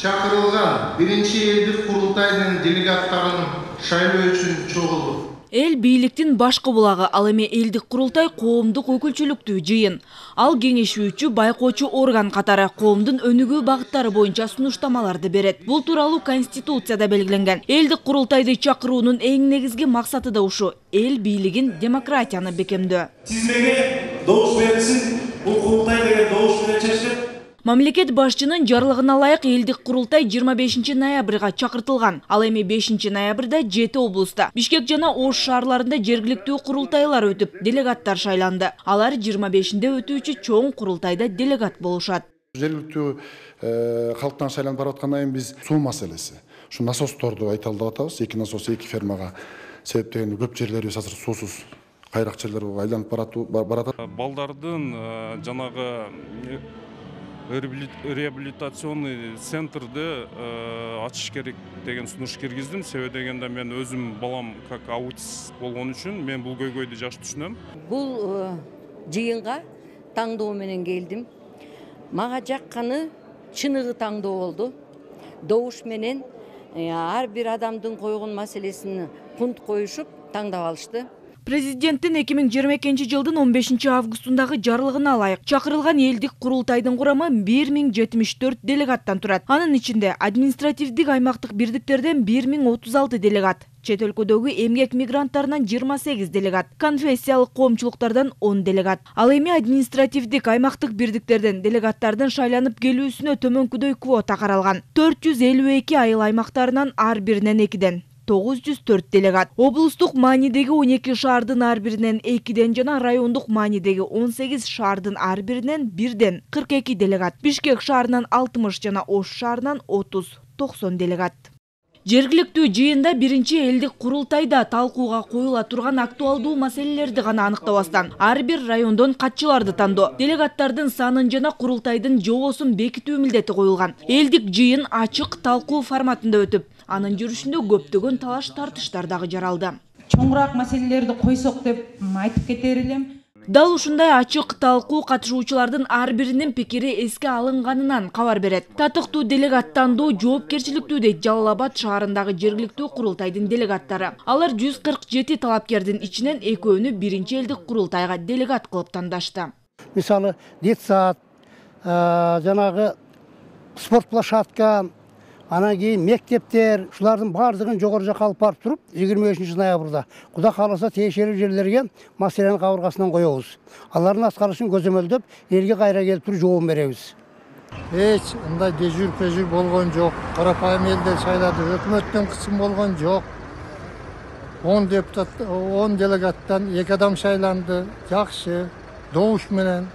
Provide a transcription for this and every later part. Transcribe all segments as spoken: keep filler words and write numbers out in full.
чакырылган биринчи элдик курултайдын делегаттарын шайлоо үчүн чогулду. Эл бийликтин башкы булагы, ал эми элдик курултай коомдук өкүлчүлүктүү жыйын. Ал кеңешүүчү, байкоочу орган катары коомдун өнүгүү багыттары боюнча сунуштамаларды берет. Бул тууралуу Конституцияда белгиленген. Элдик курултайды чакыруунун эң негизги максаты да ушу: эл бийлигин, демократияны бекемдөө. Тизмеге добуш берилсин, бул курултай деген добуш менен чечилет. Мамлекет башчынын жарлыгына ылайык элдик курултай жыйырма бешинчи ноябрга чакыртылган. Ал эми бешинчи ноябрда жети облуста, Бишкек жана Ош шаарларында жергиликтүү курултайлар өтүп, делегаттар шайланды. Алар жыйырма бешинде өтүүчү чоң курултайда делегат болушат. Жергиликтүү калктан шайланып барып аткандан кийин биз суу маселеси, ушу насосторду айталдап атабыз. Эки насос, эки фермага себептеген көп жерлерибиз азыр суусуз, кайрак жерлер айланып барат. Балдардын жанагы реабилитационный центрды ачыш керек деген сунуш киргиздим. Себеби дегенде мен өзүм балам как аутист болгон үчүн мен бул көйгөйдү жакшы түшүнөм. Бул жыйынга таңдоо менен келдим. Мага жакканы чыныгы таңдоо болду. Добуш менен ар бир адамдын койгон маселесин пункт коюшуп таңдап алышты. Президенттин эки миң жыйырма экинчи жылдын он бешинчи августундагы жарлыгына ылайык чакырылган элдик курултайдын курамы бир миң жетимиш төрт делегаттан турат. Анын ичинде административдик аймактык бирдиктерден бир миң отуз алты делегат, чет өлкөдөгү эмгек мигранттарынан жыйырма сегиз делегат, конфессиялык коомчулуктардан он делегат. Ал эми административдик аймактык бирдиктерден делегаттардын шайланып келүүсүнө төмөнкүдөй квота каралган. төрт жүз элүү эки айыл аймактарынан ар биринен экиден тогуз жүз төрт делегат, облустук маанидеги он эки шаардын ар биринен экиден жана райондук маанидеги он сегиз шаардын ар биринен бирден кырк эки делегат, Бишкек шаарынан алтымыш жана Ош шаарынан отуз токсон делегат. Жергиликтүү жыйында биринчи элдик курултайда талкууга коюла турган актуалдуу маселелерди гана аныктабастан, ар бир райондон катчыларды тандоо, делегаттардын санын жана курултайдын жобосун бекитүү милдети коюлган. Элдик жыйын ачык талкуу форматында өтүп, анын жүрүшүндө көптөгөн талаш тартыштар дагы жаралды. Чоңураак маселелерди койсок деп айтып кетер элем. Дал ушундай ачык талкуу катышуучулардын ар биринин пикири эске алынганынан кабар берет. Татыктуу делегат тандоо жоопкерчиликтүү дейт Жалал Абад шаарындагы жергиликтүү курултайдын делегаттары. Алар жүз кырк жети талапкердин ичинен экөөнү биринчи элдик курултайга делегат кылып тандашты. Мисалы, детсад, жанагы спорт площадка, анан кийин мектептер, ушулардын баардыгын жогору жакка алып барып туруп, жыйырма бешинчи ноябрда Кудай кааласа тиешелүү жерлерге маселенин кабыргасынан коебуз. Алардын аткарышын көзөмөлдөп, элге кайра келип туруп жооп беребиз. Эч андай дежур-пежур болгон жок. Карапайым элдер шайлады, өкмөттөн кысым болгон жок. он депутат, он делегаттан эки адам шайланды. Жакшы, добуш менен.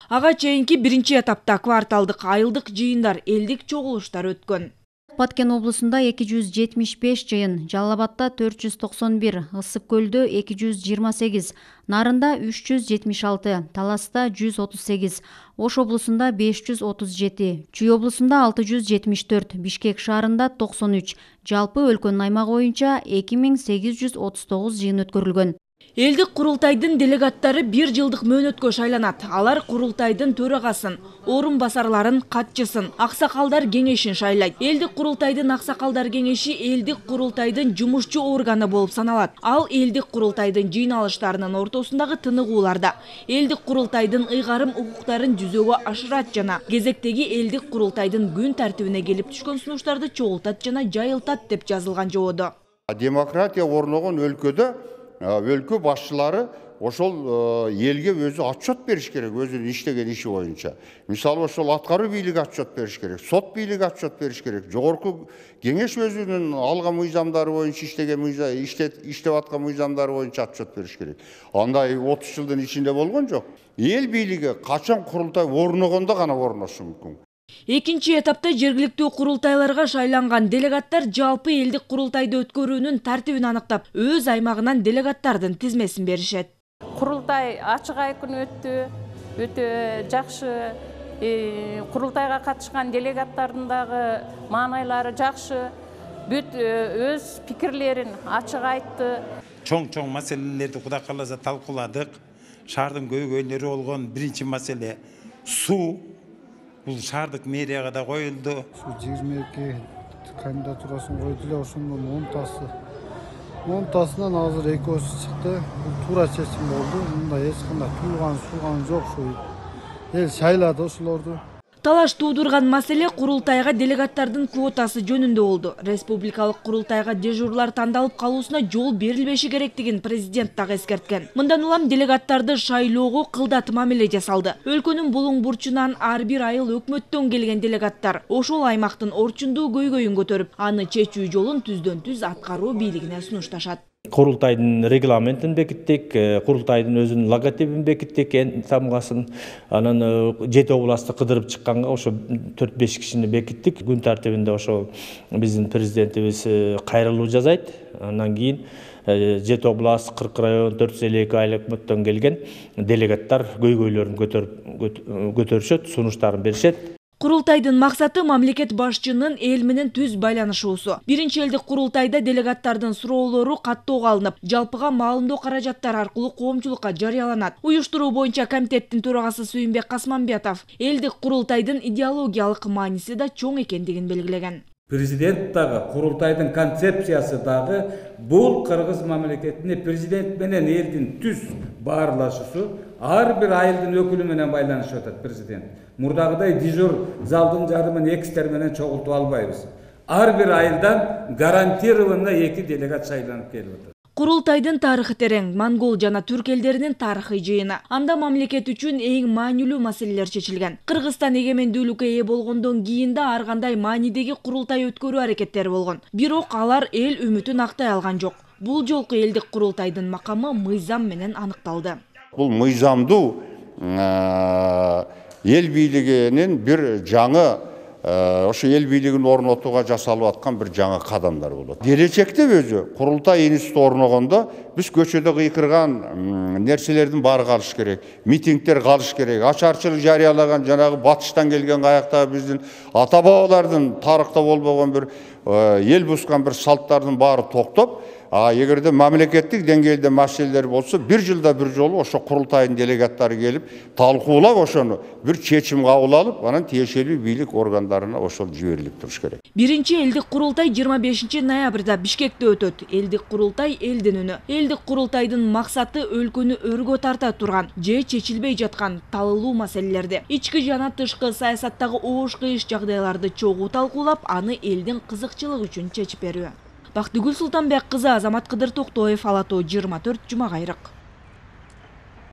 Ага чейинки биринчи этапта кварталдык, айылдык жыйындар, элдик чогулуштар өткөн. Баткен облусунда эки жүз жетимиш беш жыйын, Жалал Абадта төрт жүз токсон бир, Ысык көлдө эки жүз жыйырма сегиз, Нарында үч жүз жетимиш алты, Таласта жүз отуз сегиз, Ош облусунда беш жүз отуз жети, Чүй облусунда алты жүз жетимиш төрт, Бишкек шаарында токсон үч, жалпы өлкөнүн аймагы боюнча эки миң сегиз жүз отуз тогуз жыйын өткөрүлгөн. Элдик курултайдын делегаттары бир жылдык мөөнөткө шайланат. Алар курултайдын төрагасын, орун басарларын, катчысын, аксакалдар кеңешин шайлайт. Элдик курултайдын аксакалдар кеңеши элдик курултайдын жумушчу органы болуп саналат. Ал элдик курултайдын жыйналыштарынын ортосундагы тыныгууларда элдик курултайдын ыйгарым укуктарын жүзөгө ашырат жана кезектеги элдик курултайдын күн тартибине келип түшкөн сунуштарды чогултат жана жайылтат деп жазылган жободо. Демократия орногон өлкөдө өлкө башчылары ошол элге өзү отчет бериш керек, өзүнүн иштеген иши боюнча. Мисалы ошол аткаруу бийлиги отчет бериш керек, сот бийлиги отчет бериш керек, жогорку кеңеш өзүнүн алган мыйзамдары боюнча иштеген иштеп аткан мыйзамдары боюнча отчет бериш керек. Андай отуз жылдын ичинде болгон жок. Эл бийлиги качан курултай орногондо гана орношу мүмкүн. Экинчи этапта жергиликтүү курултайларга шайланган делегаттар жалпы элдик курултайды өткөрүүнүн тартибин аныктап, өз аймагынан делегаттардын тизмесин беришет. Курултай ачык айкын өттү, өтө жакшы. Курултайга катышкан делегаттардын дагы маанайлары жакшы. Бүт өз пикирлерин ачык айтты. Чоң-чоң маселелерди Кудай кааласа талкууладык. Шаардын көйгөйлөрү болгон биринчи маселе суу. бул шаардык мэрияга да коюлду. Ушу жыйырма эки кандидатурасын койду эле, ошондон онтасы онтасынан азыр экөөсү чыкты. Бул туура чечим болду. Мында эч кандай туулган сулган жок, ушу эл шайлады ошолорду. Талаш туудурган маселе курултайга делегаттардын квотасы жөнүндө болду. Республикалык курултайга дежурлар тандалып калуусуна жол берилбеши керектигин президент дагы эскерткен. Мындан улам делегаттарды шайлоого кылдат мамиле жасалды. Өлкөнүн булуң бурчунан ар бир айыл өкмөттөн келген делегаттар ошол аймактын орчундуу көйгөйүн көтөрүп, аны чечүү жолун түздөн түз аткаруу бийлигине сунушташат. Курултайдын регламентин бекиттик, курултайдын өзүнүн логотипин бекиттик, тамгасын, анан жети областты кыдырып чыкканга ошо төрт беш кишини бекиттик. Күн тартибинде ошо биздин президентибиз кайрылуу жасайт. Андан кийин жети област, кырк район, төрт жүз элүү эки айыл өкмөттөн келген делегаттар көйгөйлөрүн көтөрүп көтөрүшөт, сунуштарын беришет. Курултайдын максаты мамлекет башчынын эл менен түз байланышуусу. Биринчи элдик курултайда делегаттардын суроолору каттоого алынып, жалпыга маалымдоо каражаттары аркылуу коомчулукка жарыяланат. Уюштуруу боюнча комитеттин төрагасы Сүйүнбек Касманбетов элдик курултайдын идеологиялык мааниси да чоң экендигин белгилеген. Президент дагы, курултайдын концепциясы дагы бул кыргыз мамлекетине президент менен элдин түз баарлашуусу, ар бир айылдын өкүлү менен байланышып атат президент. Мурдагыдай дежур залдын жарымын экистер менен чогултуп албайбыз. Ар бир айылдан гарантированно эки делегат шайланып келип атат. Курултайдын тарыхы терең, монгол жана түрк элдеринин тарыхый жыйыны. Анда мамлекет үчүн эң маанилүү маселелер чечилген. Кыргызстан эгемендүүлүккө ээ болгондон кийин да ар кандай маанидеги курултай өткөрүү аракеттери болгон. Бирок алар эл үмүтүн актай алган жок. Бул жолку элдик курултайдын макамы мыйзам менен аныкталды. Бул мыйзамдуу эл бийлигинин бир жаңы ошо эл бийлигин орнотууга жасалып аткан бир жаңы кадамдар болот. Келечекте өзү курултай институту орногондо биз көчөдө кыйкырган нерселердин баары калыш керек. Митингдер калыш керек. Ачарчылык жарыялаган жанагы батыштан келген каяктагы биздин ата бабалардын тарыхта болбогон бир эл бускан бир салттардын баары токтоп, а эгерде мамлекеттик деңгээлде маселелер болсо, бир жылда бир жолу ошо курултайдын делегаттары келип, талкуулап ошону бир чечим кабыл алып, анан тиешелүү бийлик органдарына ошол жиберилип туруш керек. Биринчи элдик курултай жыйырма бешинчи ноябрда Бишкекте өтөт. Элдик курултай элдин үнү. Элдик курултайдын максаты өлкөнү өргө тарта турган же чечилбей жаткан талылуу маселелерди, ички жана тышкы саясаттагы оош кыйыш жагдайларды чогуу талкуулап, аны элдин кызыкчылыгы үчүн чечип берүү. Бактыгүл Султанбек кызы, Азамат Кыдыр Токтоев, Ала Тоо жыйырма төрт, Жума Кайрык.